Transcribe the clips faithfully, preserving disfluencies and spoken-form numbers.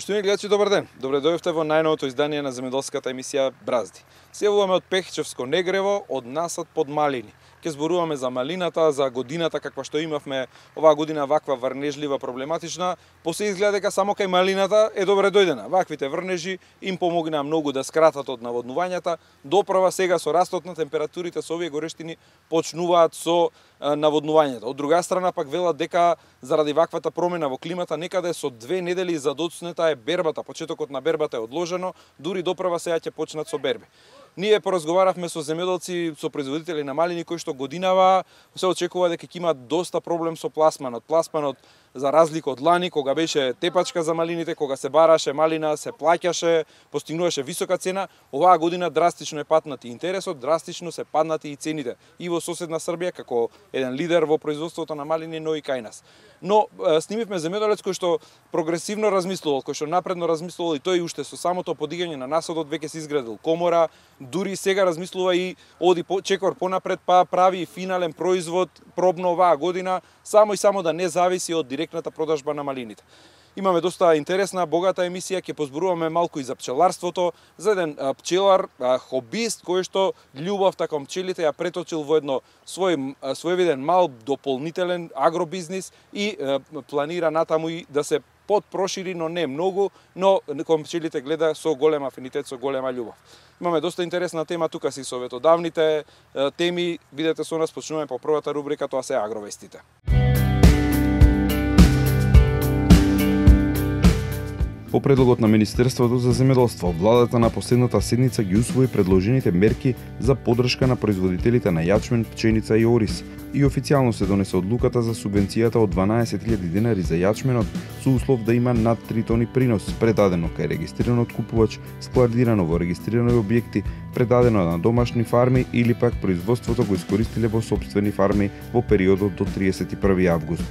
Поштовани гледачи, добар ден. Добре дојдовте во најновото издание на земјоделската емисија Бразди. Се јавуваме од Пехчевско Негрево, од насад под малини. Ке зборуваме за малината, за годината каква што имавме оваа година, ваква врнежлива, проблематична. После изгледа дека само кај малината е добре дојдена. Ваквите врнежи им помогнаа многу да скратат од наводнувањата. Доправа сега со растот на температурите со овие горештини почнуваат со наводнувањата. Од друга страна пак велат дека заради ваквата промена во климата некаде со две недели за доцнета е бербата, почетокот на бербата е одложено, дури доправа сега ќе почнат со берби. Ние поразговаравме со земјоделци, со производители на малини кои што годинава се очекува дека ќе имаат доста проблем со пласманот. Пласманот, за разлика од лани, кога беше тепачка за малините, кога се бараше малина, се плаќаше, постигнуваше висока цена, оваа година драстично е паднат и интересот, драстично се паднати и цените и во соседна Србија како еден лидер во производството на малини, но и кај нас. Но снимивме земјоделец кој што прогресивно размислувал, кој што напредно размислувал и тој уште со самото подигање на насадот веќе се изградил комора, дури сега размислува и оди по, чекор понапред, па прави финален производ пробно оваа година, само и само да не зависи од директната продажба на малините. Имаме доста интересна, богата емисија, ќе позборуваме малку и за пчеларството, за еден а, пчелар, а, хобист, кој што љубовта кон пчелите ја преточил во едно свој своевиден мал дополнителен агробизнис и а, планира натаму и да се подпрошири, но не многу, но кон пчелите гледа со голем афинитет, со голема љубов. Имаме доста интересна тема тука си советодавните теми, видете со нас, почнуваме по првата рубрика, тоа се агровестите. По предлогот на Министерството за земјоделство, владата на последната седница ги усвои предложените мерки за поддршка на производителите на јачмен, пченица и ориз и официјално се донесе одлуката за субвенцијата од дванаесет илјади денари за јачменот со услов да има над три тони принос, предадено кај регистриран откупувач, складирано во регистрирани објекти, предадено на домашни фарми или пак производството го искористиле во сопствени фарми во периодот до триесет и први август.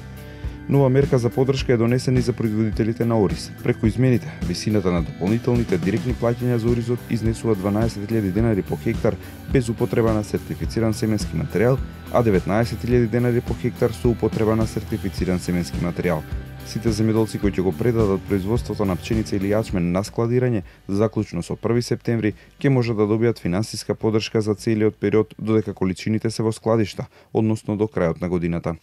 Нова мерка за поддршка е донесена и за производителите на ориз. Преку измените, висината на дополнителните директни плаќања за оризот изнесува дванаесет илјади денари по хектар без употреба на сертифициран семенски материјал, а деветнаесет илјади денари по хектар со употреба на сертифициран семенски материјал. Сите земјоделци кои ќе го предадат производството на пченица или јачмен на складирање, заклучно со први септември, ќе можат да добијат финансиска поддршка за целиот период додека количините се во складишта, односно до крајот на годината.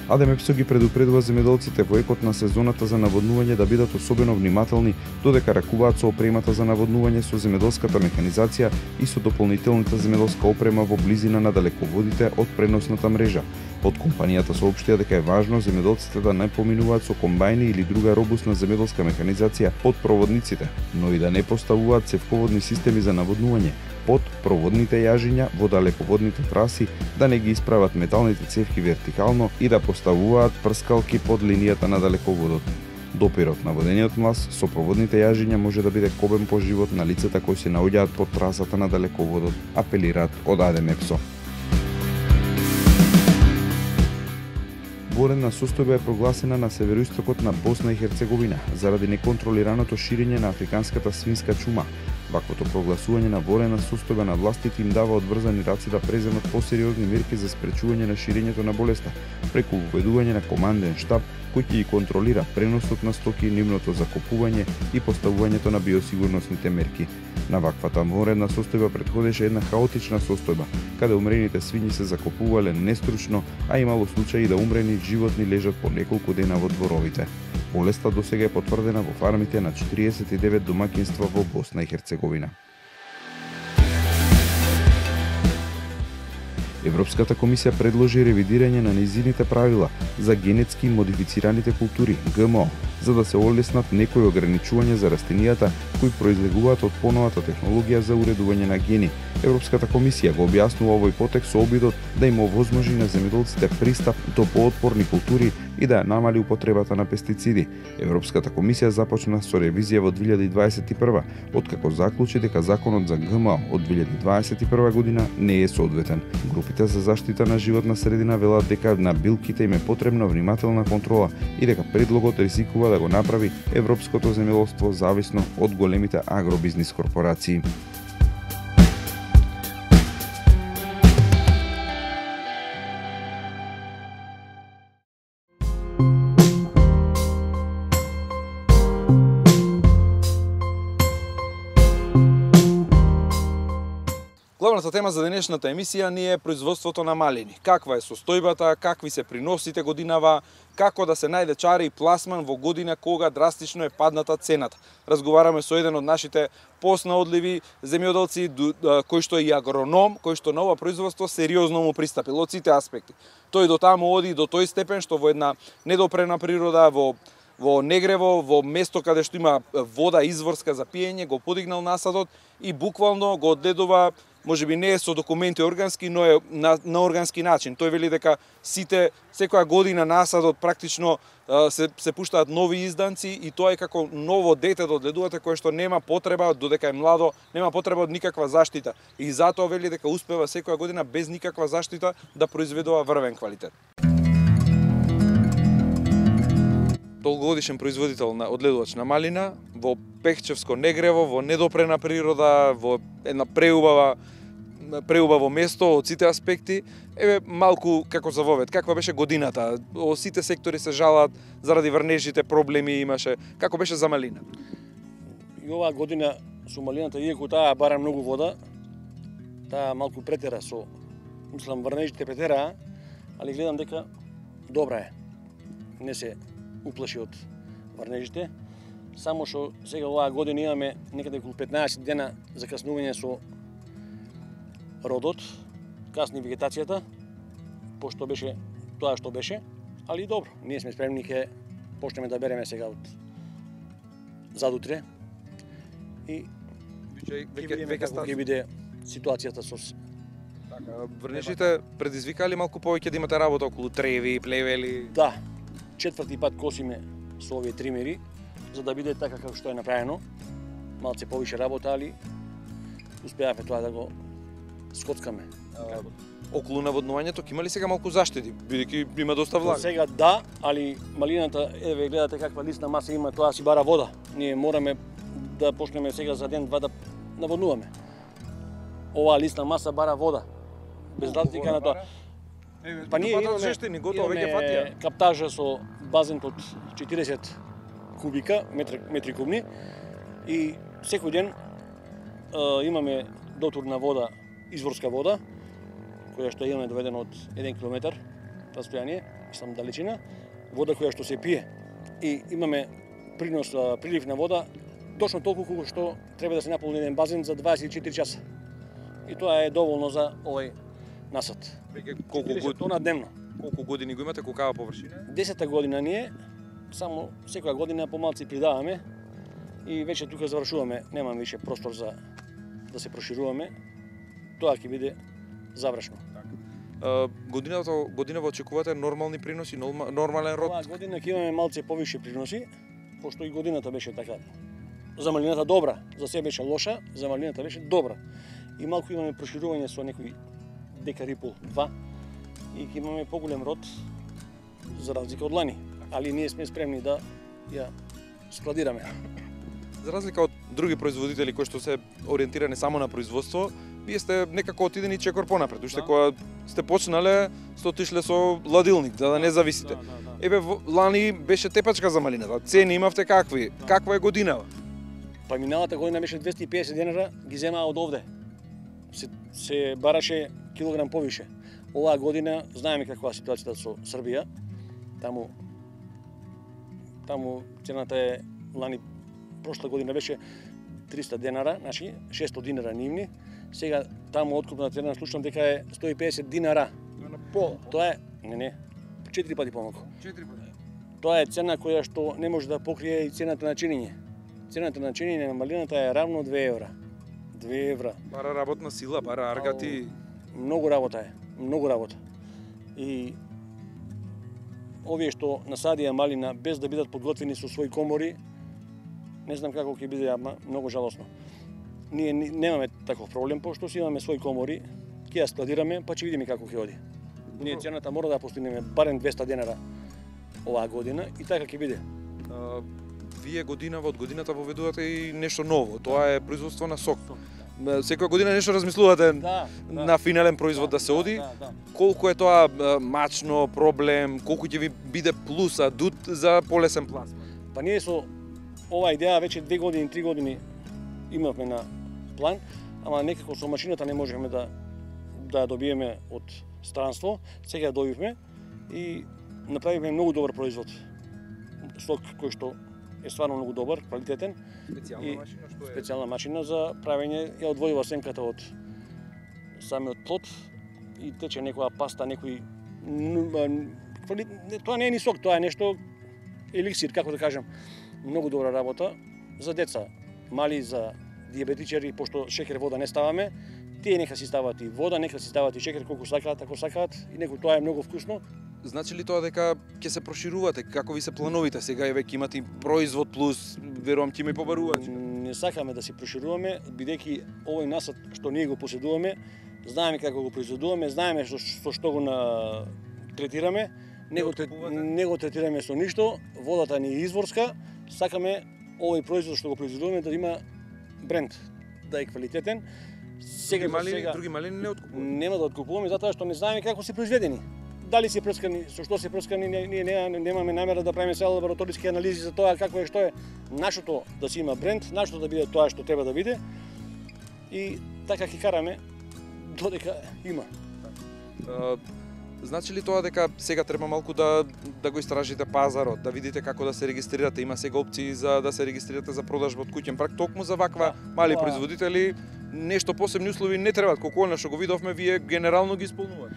АДМЕПСО ги предупредува земјоделците во екот на сезоната за наводнување да бидат особено внимателни додека ракуваат со опремата за наводнување, со земјоделската механизација и со дополнителната земјоделска опрема во близина на далеководите од преносната мрежа. Од компанијата соопштија дека е важно земјоделците да не поминуваат со комбајни или друга робусна земјоделска механизација под проводниците, но и да не поставуваат цевководни системи за наводнување под проводните јажиња во далеководните траси, да не ги исправат металните цевки вертикално и да поставуваат прскалки под линијата на далеководот. Допирот на водениот млас со проводните јажиња може да биде кобен по живот на лицата кои се наоѓаат под трасата на далеководот, апелираат од АДМЕПСО. Военна состојба е прогласена на североистокот на Босна и Херцеговина заради неконтролираното ширење на африканската свинска чума. Ваквото прогласување на военна состојба на властите им дава одврзани раци да преземат посериозни мерки за спречување на ширењето на болеста, преку уведување на команден штаб кој ќе ги контролира преносот на стоки, нивното закупување и поставувањето на биосигурносните мерки. На ваквата военна состојба претходеше една хаотична состојба, каде умрените свињи се закупувале нестручно, а имало случаи да умрени животни лежат по неколку дена во дворовите. Болеста досега е потврдена во фармите на четириесет и девет домаќинства во Босна и Херцеговина. Европската комисија предложи ревидирање на нејзините правила за генетски модифицираните култури Г М О, за да се олеснат некои ограничувања за растенијата кои произлегуваат од поновата технологија за уредување на гени. Европската комисија го објаснува овој потек со обидот да им овозможи на земјоделците пристап до поотпорни култури и да ја намали употребата на пестициди. Европската комисија започна со ревизија во две илјади дваесет и прва, откако заклучи дека законот за Г М О од две илјади дваесет и прва година не е соодветен. Групите за заштита на животна средина велат дека на билките им е потребна внимателна контрола и дека предлогот ризикува да го направи европското земјоделство зависно од големите агробизнис корпорации. Главната тема за денешната емисија ни е производството на малини. Каква е состојбата, какви се приносите годинава, како да се најде чари и пласман во година кога драстично е падната цената. Разговараме со еден од нашите поснаодливи земјоделци, кој што е и агроном, кој што на ова производство сериозно му пристапил од сите аспекти. Тој до таму оди до тој степен што во една недопрена природа, во во негрево, во место каде што има вода изворска за пиење, го подигнал насадот и буквално го одгледува, можеби не е со документи органски, но е на, на органски начин. Тој вели дека сите, секоја година насадот практично се, се пуштаат нови изданци и тоа е како ново дете да одгледувате кое што нема потреба, додека е младо, нема потреба од никаква заштита. И затоа вели дека успева секоја година без никаква заштита да произведува врвен квалитет. Долгогодишен производител на одгледувач на малина, во пехчевско негрево, во недопрена природа, во една преубава преубаво место од сите аспекти. Еве малку како за вовед, каква беше годината? О сите сектори се жалат заради врнежите, проблеми имаше. Како беше за малина? И оваа година со малината, иако таа бара многу вода, таа малку претера со, мислам, врнежите претера, али гледам дека добра е. Не се уплаши од врнежите. Само што сега оваа година имаме некаде околу петнаесет дена закаснување со родот, касни вегетацијата, пошто беше тоа што беше, али добро, ние сме спремни, ке почнеме да береме сега од задутре и ќе видиме како ќе биде ситуацијата со така. Врнежите предизвикали малку повеќе да имате работа околу треви, плевели? Да, четврти пат косиме со овие тримери, за да биде така како што е направено. Малце повише работа, али успеавме тоа да го скоцкаме. А, околу наводнувањето ќе има ли сега малку заштити, бидејќи има доста влага? Сега да, али малината, еве гледате каква лисна маса има, тоа си бара вода. Ние мораме да почнеме сега за ден-два да наводнуваме. Оваа лисна маса бара вода. Без разлика на тоа. Па ние имаме жештини, готово веќе фатија. Каптажа со базен од четиресет кубика, метри, метри кубни, и секој ден а, имаме дотур на вода, изворска вода, која што имаме доведена од еден километар расстојание, мислам далечина, вода која што се пие. И имаме принос, прилив на вода, точно толку колку што треба да се наполни еден базен за дваесет и четири часа. И тоа е доволно за овој насад. Колку години тона дневно. Колку години го имате, колкава површина? Десета година ние, само секоја година помалци придаваме и веќе тука завршуваме, немам више простор за да се прошируваме. Тоа ќе биде завршено. Uh, годината годинава очекувате нормални приноси, нормален род? Оваа година ќе имаме малце повише приноси, пошто и годината беше така. За малината добра, за себе беше лоша, за малината беше добра. И малку имаме проширување со некои декар и пол, два, и ќе имаме поголем род за разлика од лани. Али ние сме спремни да ја складираме. За разлика од други производители кои што се ориентирани само на производство, вие сте некако отидени чекор понапред. Уште да. Кога сте почнале, сте отишле со ладилник, за да не зависите. Да, да, да. Еве, лани беше тепачка за малината. Цени имавте какви? Да. Каква е годинава? Па миналата година беше двесте и песет денара, ги земаа од овде. Се, се бараше килограм повише. Оваа година знаеме каква е ситуацијата со Србија. Таму таму цената е лани прошла година беше триста денара, значи шестост динара нивни. Сега таму откупна цена слушам дека е сто и песет динара. На пол. Тоа е, не не, четири пати помалку. четири пати. Тоа е цена која што не може да покрие и цената на чинење. Цената на чинење на малината е равно две евра. две евра. Бара работна сила, бара аргати. Многу работа е, многу работа. И овие што насадија малина без да бидат подготвени со своји комори, не знам како ќе биде, ама многу жалосно. Ние немаме таков проблем, пошто си имаме своји комори, ќе ја складираме, па ќе видиме како ќе оди. Ние цената мора да постигнеме барем двесте денара оваа година и така ќе биде. А, вие годинава од годината воведувате и нешто ново, тоа е производство на сок. Секоја година нешто размислувате да, да, на финален производ да, да се оди. Да, да. Колку е тоа мачно, проблем, колку ќе ви биде плюс, адут за полесен пласман? Па ние со оваа идеја веќе две години, три години имавме на план, ама некако со машината не можеме да да ја добиеме од странство. Сега ја добивме и направивме многу добар производ. Сок кој што е стварно многу добар, квалитетен. Специјална машина што е Специјална машина за правење, ја одвојува сенката од самиот плод и тече некоја паста, некој тоа не е ни сок, тоа е нешто еликсир, како да кажам. Многу добра работа за деца, мали, за диабетичари, пошто шекер вода не ставаме. Тие нека си стават и вода, нека си стават и шекер колку сакаат, ако сакаат, и некој тоа е многу вкусно. Значи ли тоа дека ќе се проширувате? Како ви се плановите? Сега е веќе имате производ плюс, верувам ќе ме побарувате. Не сакаме да се прошируваме, бидејќи овој насад што ние го поседуваме, знаеме како го произведуваме, знаеме што, со што го на третираме, не го, не го третираме со ништо, водата ни е изворска, сакаме овој производ што го произведуваме да има бренд, да е квалитетен. Сега, други мали, сега, други малини не откупуваме. Нема да откупуваме затоа што не знаеме како се произведени. Дали се прскани, со што се прскани, ние не, немаме намера да правиме сега лабораториски анализи за тоа какво е, што е. Нашото да си има бренд, нашето да биде тоа што треба да биде. И така ќе караме додека има. А, значи ли тоа дека сега треба малку да да го истражите пазарот, да видите како да се регистрирате, има сега опции за да се регистрирате за продажба од куќен праг, токму за ваква мали тоа... производители, нешто посебни услови не требаат, колку она што го видовме вие генерално ги исполнувате.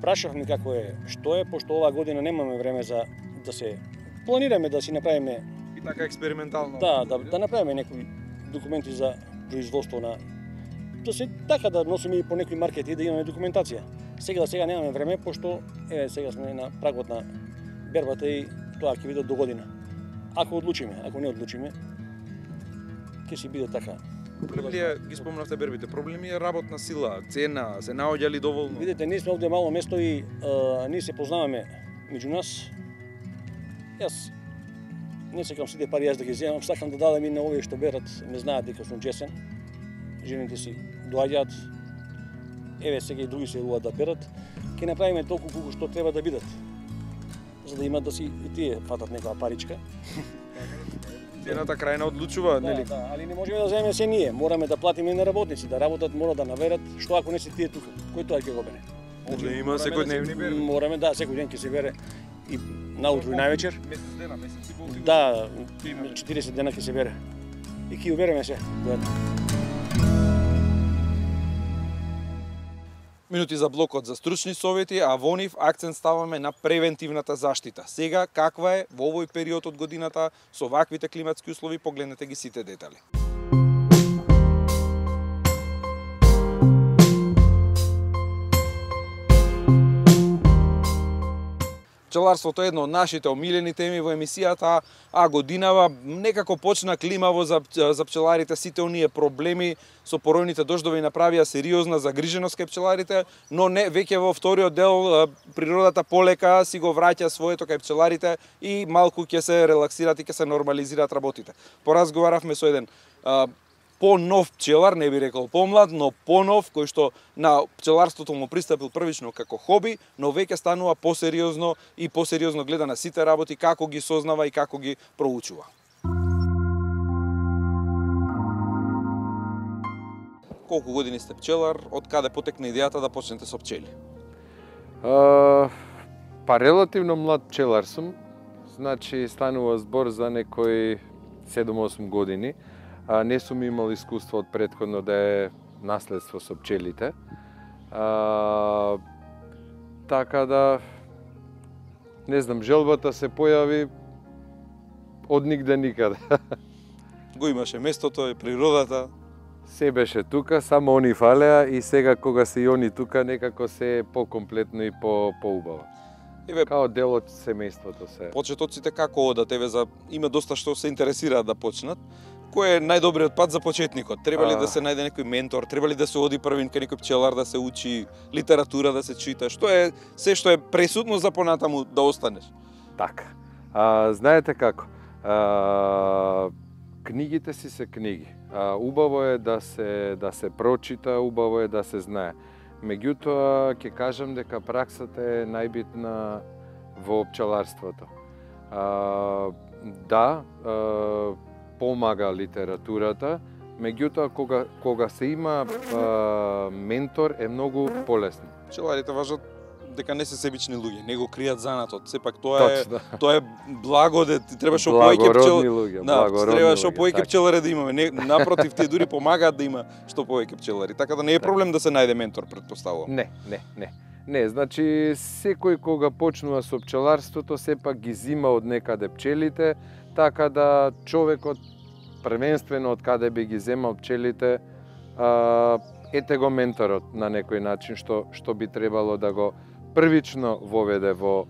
Прашавме како е, што е, пошто оваа година немаме време за да се планираме да си направиме и така експериментално. Да, да, да направиме некои документи за производство на да се така да носиме и по некои маркети да имаме документација. Сега да сега немаме време пошто еве сега сме на прагот на бербата и тоа ќе биде до година. Ако одлучиме, ако не одлучиме, ќе си биде така. Проблеми е, ги спомнавте бербите, проблеми е работна сила, цена, се наоѓа ли доволно? Видете, ние сме овде мало место и а, ние се познаваме меѓу нас. Јас не сакам сите пари јас да ги земам, сакам да дадам и на овие што берат, не знаат дека сум чесен. Жените си доаѓаат, еве сега и други се јавуваат да берат. Ќе направиме толку колку што треба да бидат, за да имат да си и тие фатат некоја паричка. Цената крајна одлучува, Да, нели? да, али не можеме да земеме се ние, мораме да платиме на работници, да работат, мора да наверат, што ако не се тие тука, кој тоа ќе го бере? Овде има секојдневни берби. Мораме, да, секој ден ќе се бере и наутро и највечер. Месец дена, месец и пол. Да, четиресет дена ќе се бере. И ќе ја береме се. Минути за блокот за стручни совети, а во нив акцент ставаме на превентивната заштита. Сега, каква е во овој период од годината со ваквите климатски услови, погледнете ги сите детали. Пчеларството е едно од нашите омилени теми во емисијата, а годинава некако почна климаво за, за пчеларите. Сите оние проблеми со поројните дождови направија сериозна загриженост кај пчеларите, но не, веќе во вториот дел природата полека си го враќа своето кај пчеларите и малку ќе се релаксираат и ќе се нормализираат работите. Поразговаравме со еден а, по-нов пчелар, не би рекол помлад, но по-нов, кој што на пчеларството му пристапил првично како хоби, но веќе станува посериозно и посериозно гледа на сите работи, како ги сознава и како ги проучува. Колку години сте пчелар, од каде потекна идејата да почнете со пчели? А, па релативно млад пчелар сум, значи станува збор за некои седум-осум години. А, не сум имал искуство од претходно да е наследство со пчелите. А, така да, не знам, желбата се појави од нигде никаде. Го имаше местото и природата. Се беше тука, само они фалеа и сега кога се и они тука, некако се е покомплетно и по поубаво. Еве, Као дел од семејството се. почетоците како одат, еве за има доста што се интересираат да почнат. Кој е најдобриот пат за почетникот? Треба ли А... да се најде некој ментор? Треба ли да се оди првин кај некој пчелар да се учи литература, да се чита? Што е се што е пресудно за понатаму да останеш? Така. А, знаете како? А, книгите си се книги. А, убаво е да се да се прочита, убаво е да се знае. Меѓутоа, ќе кажам дека праксата е најбитна во пчеларството. А, да, а, помага литературата, Меѓутоа кога кога се има а, ментор е многу полесно. Пчеларите важат дека не се себични луѓе, него кријат занатот. Сепак тоа е Точно. тоа е благодет, треба што повеќе пчел... луѓе, Да, благородни треба што луѓе, повеќе така. пчелари да имаме. Не, напротив, тие дури помагаат да има што повеќе пчелари. Така да не е проблем да се најде ментор, претпоставувам. Не, не, не. Не, значи секој кога почнува со пчеларството сепак ги зима од некаде пчелите, така да човекот првенствено од каде би ги земал пчелите, а, ете го менторот на некој начин што што би требало да го првично воведе во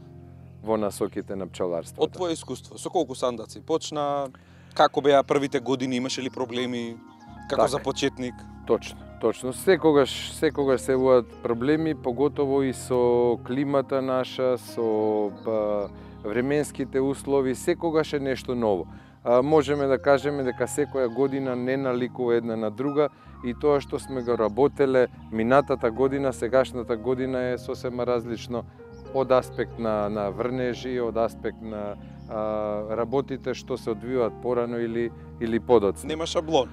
во насоките на пчеларството. Од твое искуство, со колку сандаци почна? Како беа првите години, имаше ли проблеми? Како Така. за почетник? Точно, точно. Секогаш, секогаш се јавуваат проблеми, поготово и со климата наша, со па, временските услови, секогаш е нешто ново. А, можеме да кажеме дека секоја година не наликува една на друга и тоа што сме го работеле минатата година, сегашната година е сосема различно од аспект на, на врнежи, од аспект на а, работите што се одвиваат порано или, или подоцна. Нема шаблон.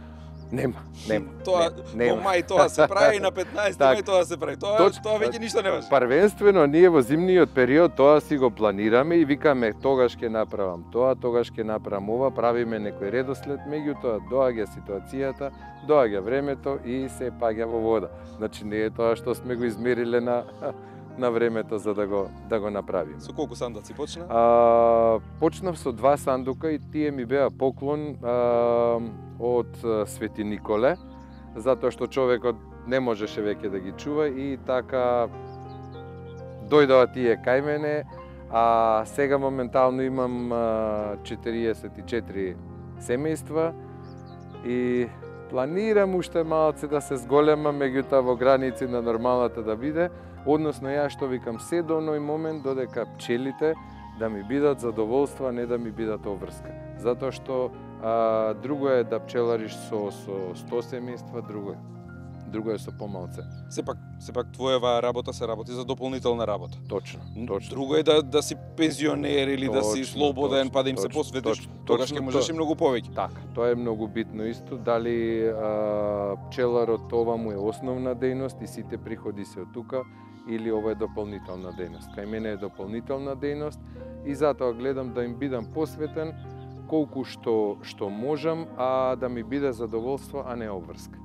Нема, нема. Тоа нема, во мај тоа се прави, на петнаесети Так. мај тоа се прави. Тоа Точ- тоа веќе ништо не важи. Првенствено ние во зимниот период тоа си го планираме и викаме тогаш ќе направам тоа, тогаш ќе направам ова, правиме некој редослед, меѓутоа доаѓа ситуацијата, доаѓа времето и се паѓа во вода. Значи не е тоа што сме го измериле на на времето за да го да го направиме. Со колку сандаци почна? А, почнав со два сандука и тие ми беа поклон а, од а, Свети Николе, затоа што човекот не можеше веќе да ги чува и така дојдоа тие кај мене, а сега моментално имам а, четириесет и четири семејства и планирам уште малце да се зголемам, меѓутоа во граници на нормалната да биде. Односно, ја што викам, се до оној момент додека пчелите да ми бидат задоволство, а не да ми бидат обврска. Затоа што а, друго е да пчелариш со, со сто семејства, друго е. Друго е со помалце. Сепак, сепак твојава работа се работи за дополнителна работа. Точно, точно. Друго е да да си пензионер или да си Точно, слободен, точно, па да им се точно, посветиш, точно, тогаш точно ќе можеш тоа. и многу повеќе. Така, тоа е многу битно исто. Дали а, пчеларот ова му е основна дејност и сите приходи се од тука, или ова е дополнителна дејност. Кај мене е дополнителна дејност и затоа гледам да им бидам посветен колку што што можам, а да ми биде задоволство, а не обврска.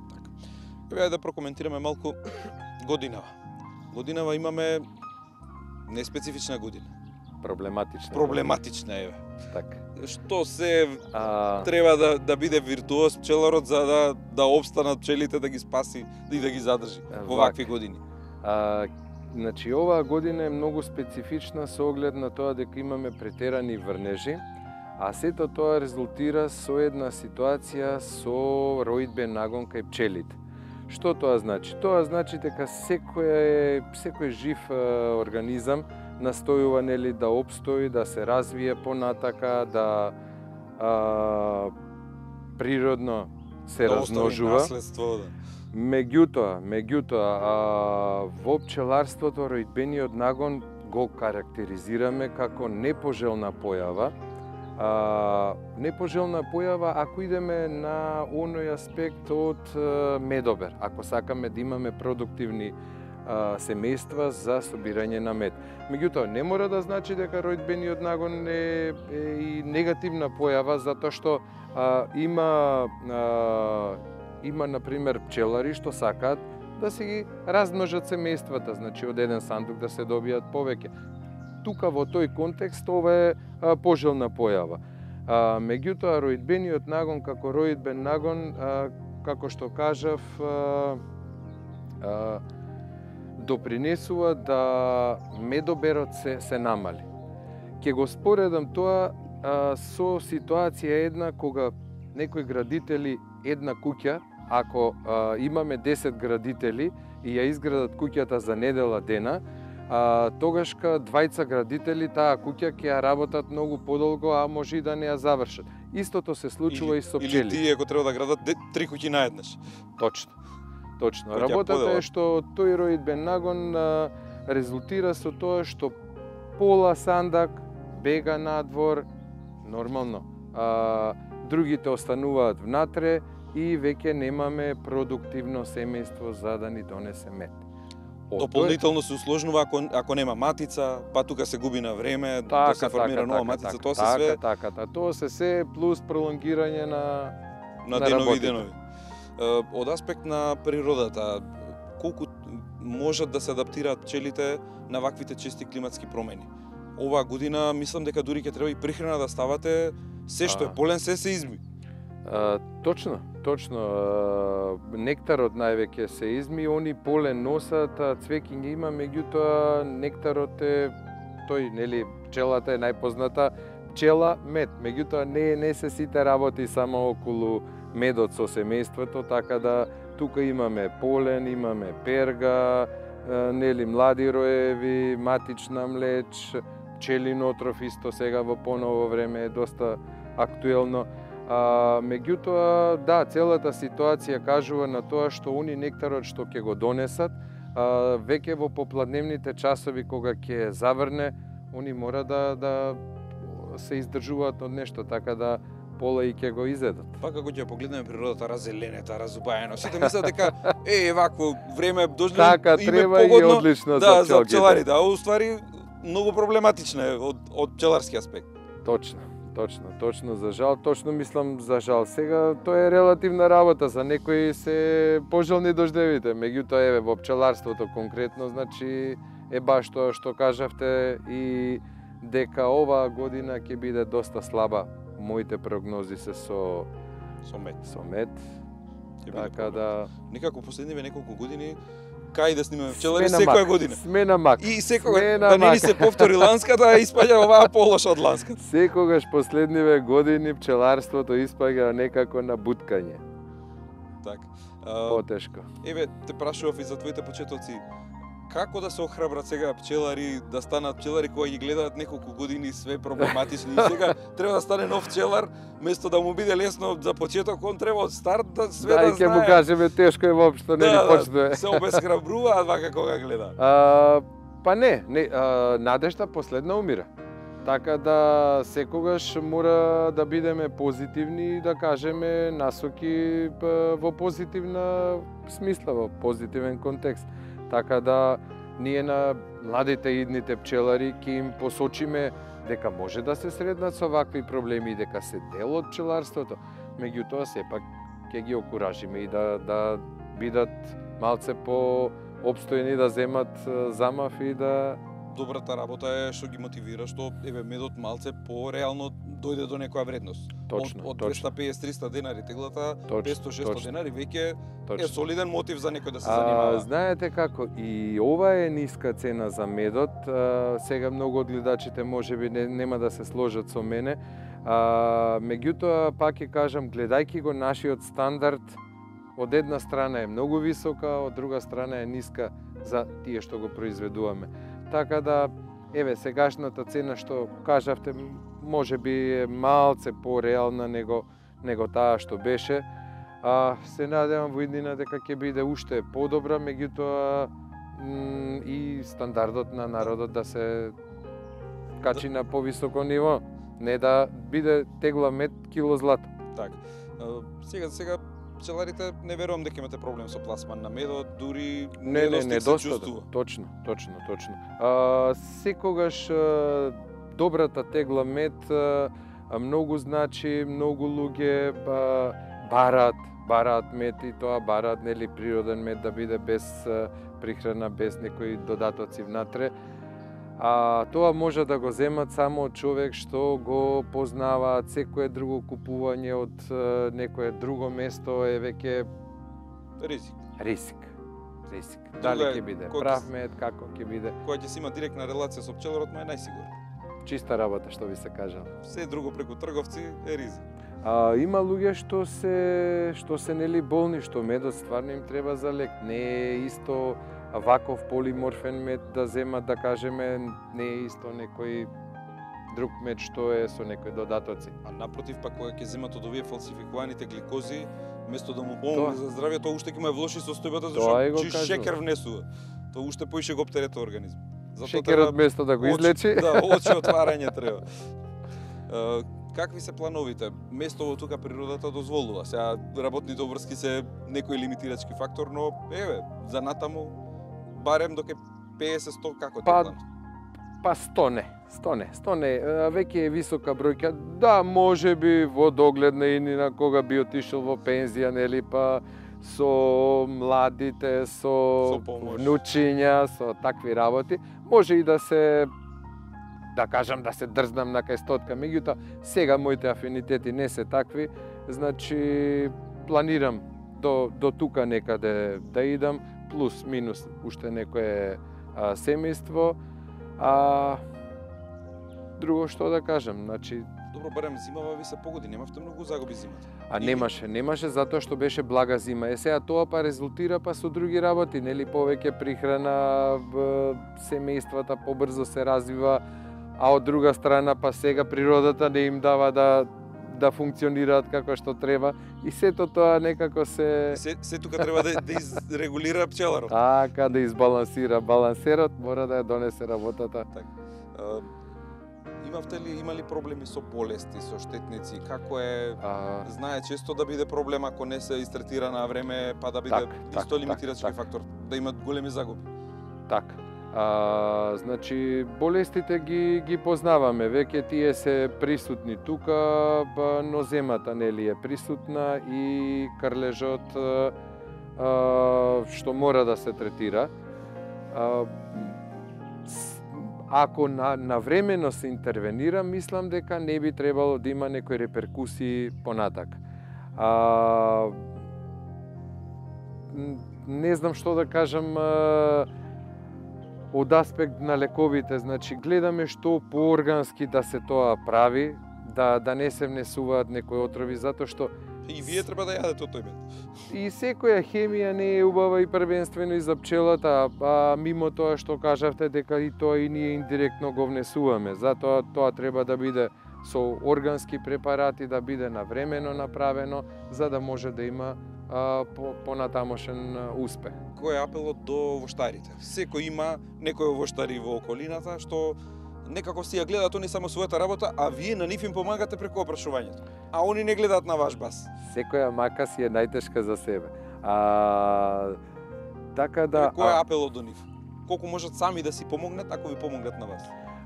Еве да прокоментираме малку годинава. Годинава имаме неспецифична година. Проблематична. Проблематична е. Така. Што се А, треба да да биде виртуоз пчеларот за да да опстанат пчелите, да ги спаси и да ги задржи во Вака. вакви години. а, значи оваа година е многу специфична со оглед на тоа дека имаме претерани врнежи, а сето тоа резултира со една ситуација со роидбен нагон кај пчелите. Што тоа значи? Тоа значи дека секој секој жив е, организам настојува нели да опстои, да се развие понатака, да а, природно се Да остави размножува. наследство, да. Меѓутоа, меѓутоа, а, во пчеларството роидбениот нагон го карактеризираме како непожелна појава. А, непожелна појава ако идеме на оној аспект од а, медобер, ако сакаме да имаме продуктивни а, семејства за собирање на мед. Меѓутоа, не мора да значи дека роидбениот нагон е, е и негативна појава, затоа што а, има а, има, например, пчелари што сакаат да си ги размножат семејствата, значи од еден сандук да се добијат повеќе. Тука во тој контекст ова е а, пожелна појава. А, меѓутоа, роидбениот нагон како роидбен нагон, а, како што кажав, а, а, допринесува да медоберот се, се намали. Ќе го споредам тоа а, со ситуација една кога некои градители една куќа, ако а, имаме десет градители и ја изградат куќата за недела дена, а, тогашка двајца градители таа куќа ќе ја работат многу подолго, а може и да не ја завршат. Истото се случува и со Или пчели. тие ако треба да градат де- три куќи наеднаш. Точно. Точно. Кој ќе Работата поделат. е што тој роидбен нагон а, резултира со тоа што пола сандак бега надвор, нормално. А, другите остануваат внатре и веќе немаме продуктивно семејство за да ни донесе мед. Дополнително се усложнува ако ако нема матица, па тука се губи на време така, да се формира така, нова така, матица, така, тоа се така, све така, така, тоа се се плюс пролонгирање на на, на денови и денови. Од аспект на природата, колку можат да се адаптираат пчелите на ваквите чести климатски промени? Оваа година мислам дека дури ќе треба и прихрана да ставате, се што е полен се се изми. А, точно, точно. А, нектарот највеќе се изми, они полен носат, цвеќиња има, меѓутоа нектарот е тој, нели, пчелата е најпозната пчела мед. Меѓутоа не не се сите работи само околу медот со семејството, така да тука имаме полен, имаме перга, нели, млади роеви, матична млеч, пчелин отров исто сега во поново време е доста актуелно. А, меѓутоа, да, целата ситуација кажува на тоа што они нектарот што ќе го донесат, а, веќе во попладневните часови кога ќе заврне, они мора да да се издржуваат од нешто, така да пола и ќе го изедат. Па како ќе погледнеме природата разеленета, разубаено, сите мислат дека е вакво време дошло така, им треба е погодно, и одлично да, за пчеларите. за пчеларите, а уствари многу проблематична е од од пчеларски аспект. Точно. Точно, точно, за жал, точно мислам за жал. Сега тоа е релативна работа, за некои се пожелни дождевите, меѓутоа еве во пчеларството конкретно, значи е баш тоа што кажавте и дека оваа година ќе биде доста слаба. Моите прогнози се со со мед. Со мед. Така да некако последниве неколку години кај да снимаме пчелари секоја година. Сме на мак. И секогаш да не ни се повтори ланската, испаѓа оваа полоша од ланската. Секогаш последниве години пчеларството испаѓа некако на буткање. Така. Потешко. Еве, те прашував и за твоите почетоци. Како да се охрабрат сега пчелари да станат пчелари кои ги гледаат неколку години све проблематични и сега треба да стане нов пчелар, место да му биде лесно за почеток, он треба од старт да све да, да знае. Да, ќе му кажеме тешко е воопшто, не да, ни почнува. Да, се обесхрабруваат вака кога гледа. А, па не, не а, надежта последна умира. Така да секогаш мора да бидеме позитивни и да кажеме насоки во позитивна смисла, во позитивен контекст. Така да ние на младите идните пчелари ќе им посочиме дека може да се сретнат со вакви проблеми и дека се дел од пчеларството. Меѓутоа сепак ќе ги окуражиме и да да бидат малце по обстојни, да земат замав и да добрата работа е што ги мотивира, што еве медот малце по реално дојде до некоја вредност. Точно, од, од точно. двесте песет триста денари теглата, Точно, петсто шесто точно. денари веќе Точно. е солиден мотив за некој да се А, занимава. знаете како, и ова е ниска цена за медот. А, сега многу од гледачите можеби не, нема да се сложат со мене. А, меѓутоа, пак ќе кажам, гледајќи го нашиот стандард, од една страна е многу висока, од друга страна е ниска за тие што го произведуваме. Така да, еве, сегашната цена што кажавте, може би е малце пореална него, него таа што беше. А, се надевам во иднина дека ќе биде уште подобра, меѓутоа и стандардот на народот да се качи на повисоко ниво, не да биде тегла мед кило злато. Така. Сега сега пчеларите не верувам дека имате проблем со пласман на медот, дури не, не, недостиг се чувствува. недостаток. Точно, точно, точно. А, секогаш а, добрата тегла мед а, многу значи, многу луѓе а, бараат, бараат мед и тоа бараат, нели, природен мед да биде без а, прихрана, без некои додатоци внатре. А тоа може да го земат само од човек што го познаваат. Секое друго купување од е, некое друго место е веќе ризик. Риск. Риск. Друго Дали е, ќе биде кој прав ќе- мед, како ќе биде. Која ќе си има директна релација со пчеларот, му е најсигурно. Чиста работа, што би се кажал. Се друго преку трговци е ризик. А, има луѓе што се што се нели болни, што медот стварно им треба за лек. Не е исто ваков полиморфен мед да земат, да кажеме, не е исто некој друг мед што е со некои додатоци. А напротив, пак кога ќе земат од овие фалсификуваните гликози, место да му Тоа. помогне за здравје, тоа уште ќе му е влоши состојбата, Тоа и го зашто чист кажувам. шекер внесува. Тоа уште поише го оптерета организм. Затоа Шекерот треба место да го очи- излечи. Да, очи отварање треба. Е, какви се плановите? Местово тука природата дозволува. Сега работните обврски се некој лимитирачки фактор, но еве, за натаму барем доке петдесет сто како Па, те план? Па сто не, сто не, сто не. Веќе е висока бројка. Да, може би во догледна иднина кога би отишол во пензија, нели, па со младите, со, Со помош. внучиња, со такви работи, може и да се, да кажам, да се дрзнам на кај стотка. Меѓутоа, сега моите афинитети не се такви, значи планирам до, до тука некаде да идам, плюс минус уште некое а, семејство. А друго што да кажам, значи Добро, барем зимава ви се погоди, немавте многу загуби зимата. а немаше, немаше затоа што беше блага зима. Е сега тоа па резултира па со други работи, нели, повеќе прихрана, в семејствата побрзо се развива, а од друга страна па сега природата не им дава да да функционираат како што треба и сето тоа некако се Се, се тука треба да, да изрегулира пчеларот. така да избалансира. Балансерот мора да ја донесе работата. А, имавте ли, имали проблеми со болести, со штетници? Како е, А, знае често да биде проблем ако не се истретира на време, па да биде Так, исто так, лимитирачки так, так. фактор, да имат големи загуби. така. А, значи, болестите ги, ги познаваме, веќе тие се присутни тука, ба, ноземата нели е присутна и крлежот а, што мора да се третира. А, с- ако на, навремено се интервенира, мислам дека не би требало да има некои реперкусии понатак. А, н- не знам што да кажам, а, од аспект на лековите, значи гледаме што пооргански да се тоа прави, да да не се внесуваат некои отрови, затоа што И вие треба да јадете од тој мед. и секоја хемија не е убава и првенствено и за пчелата, а мимо тоа што кажавте дека и тоа и ние индиректно го внесуваме. Затоа тоа треба да биде со органски препарати, да биде навремено направено, за да може да има а, по, понатамошен а, успех. Кој е апелот до воштарите? Секој има некој воштари во околината што некако си ја гледаат они само својата работа, а вие на нив им помагате преку опрашувањето. А они не гледаат на ваш бас. Секоја мака си е најтешка за себе. А, така да... Кој е а- апелот до нив? Колку можат сами да си помогнат ако ви помогнат на вас?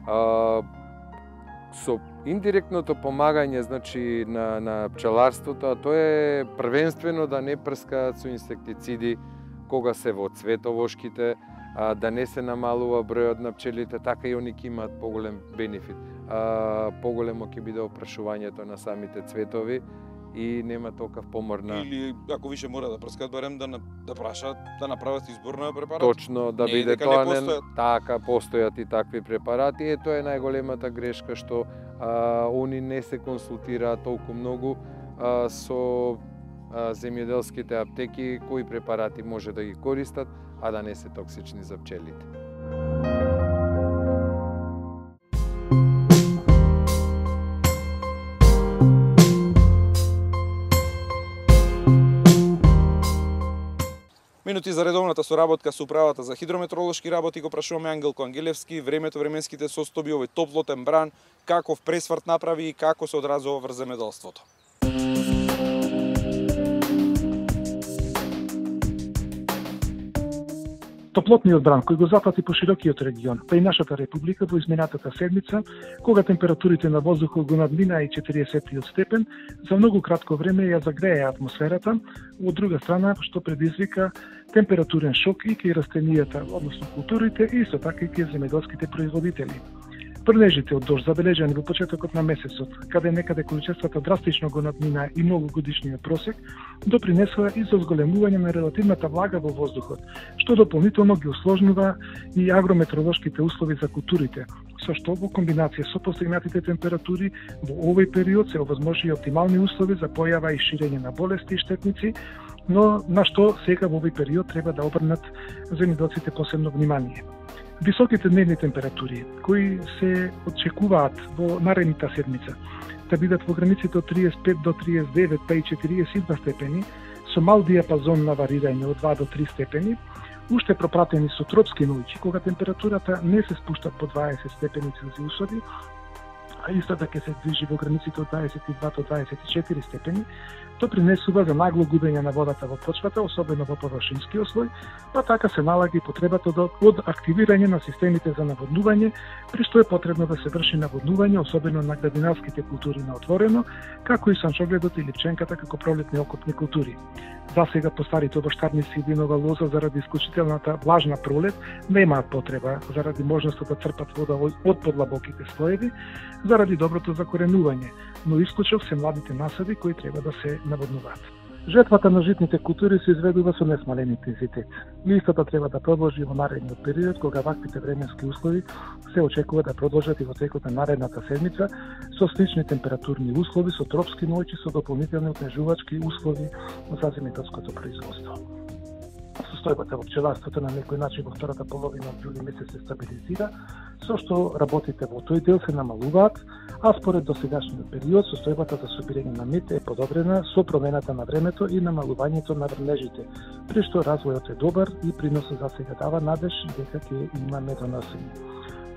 А, со индиректното помагање, значи на на пчеларството, а тоа е првенствено да не прскаат со инсектициди кога се во цветовошките, а, да не се намалува бројот на пчелите, така и они ќе имаат поголем бенефит. А, поголемо ќе биде опрашувањето на самите цветови и нема толков помор на... Или ако више мора да прскаат, барем да, на- да прашаат, да направат избор на препарат. Точно, да Не е биде дека не тоа постојат. така, постојат и такви препарати. Е, тоа е најголемата грешка што а, они не се консултираат толку многу а, со а, земјоделските аптеки кои препарати може да ги користат, а да не се токсични за пчелите. Минути за редовната соработка со управата за хидрометеоролошки работи го прашуваме Ангелко Ангелевски, времето, временските состојби, овој топлотен бран, каков пресврт направи и како се одразува врз земјоделството. Топлотниот бран кој го запати по широкиот регион, па и нашата република во изминатата седмица, кога температурите на воздухот го надминаа и четиридесетиот степен, за многу кратко време ја загреја атмосферата, од друга страна што предизвика температурен шок и кај растенијата, односно културите и исто така и кај земјоделските производители. Прнежите од дожд забележани во почетокот на месецот, каде некаде количествата драстично го надмина и многогодишниот просек, допринесува и за зголемување на релативната влага во воздухот, што дополнително ги усложнува и агрометеоролошките услови за културите, со што во комбинација со постигнатите температури во овој период се овозможи оптимални услови за појава и ширење на болести и штетници, но на што сега во овој период треба да обрнат земјоделците посебно внимание. Високите дневни температури, кои се очекуваат во наредната седмица, да бидат во границите од триесет и пет до триесет и девет, па и четириесет и два степени, со мал диапазон на варирање од два до три степени, уште пропратени со тропски ноќи, кога температурата не се спушта по дваесет степени Целзиусови, а истата ќе се движи во границите од дваесет и два до дваесет и четири степени, допринесува за нагло губење на водата во почвата, особено во површинскиот слој, па така се налага и потребата од активирање на системите за наводнување, при што е потребно да се врши наводнување, особено на градинарските култури на отворено, како и санчогледот и липченката како пролетни окопни култури. За сега по старите овоштарници и винова лоза заради исклучителната влажна пролет немаат потреба заради можноста да црпат вода од подлабоките слоеви, заради доброто закоренување, но исклучок се младите насади кои треба да се наводнуваат. Жетвата на житните култури се изведува со несмален интензитет. Истата треба да продолжи во наредниот период, кога ваквите временски услови се очекува да продолжат и во текот на наредната седмица со слични температурни услови, со тропски ноќи, со дополнителни отнежувачки услови за земјоделското производство. Состојбата во пчеларството на некој начин во втората половина од јули месец се стабилизира, со што работите во тој дел се намалуваат, а според досегашниот период состојбата за собирање на мед е подобрена со промената на времето и намалувањето на врнежите, при што развојот е добар и приносот за сега дава надеж дека ќе има медоносење.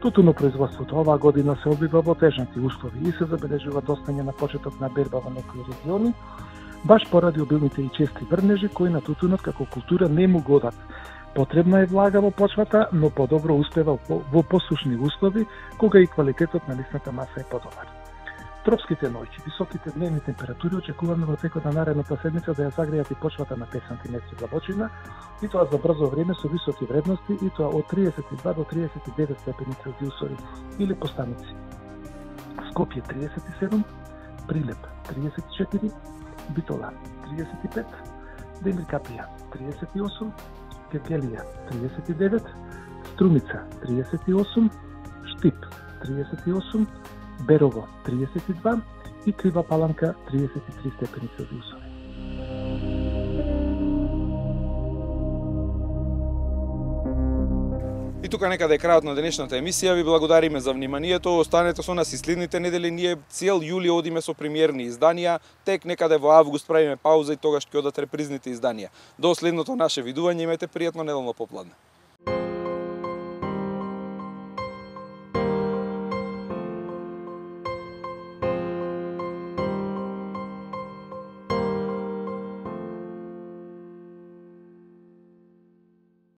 Тутуно производството оваа година се одвива во тежнати услови и се забележува достање на почеток на берба во некои региони, баш поради обилните и чести врнежи кои на тутунот како култура не му годат. Потребна е влага во почвата, но подобро успева во посушни услови, кога и квалитетот на лисната маса е подобар. Тропските ноќи, високите дневни температури очекуваме во текот на наредната седмица да ја загрејат и почвата на пет сантиметри длабочина, и тоа за брзо време со високи вредности, и тоа од триесет и два до триесет и девет степени Целзиусови или по станици. Скопје триесет и седум, Прилеп триесет и четири, Битола триесет и пет, Демиркапија триесет и осум, Кергелија триесет и девет, Струмица триесет и осум, Штип триесет и осум, Берово триесет и два и Крива Паланка триесет и три степени Целзиусови. И тука некаде е крајот на денешната емисија. Ви благодариме за вниманието. Останете со нас и следните недели. Ние цел јули одиме со премиерни изданија. Тек некаде во август правиме пауза и тогаш ќе одат репризните изданија. До следното наше видување, имајте пријатно неделно попладне.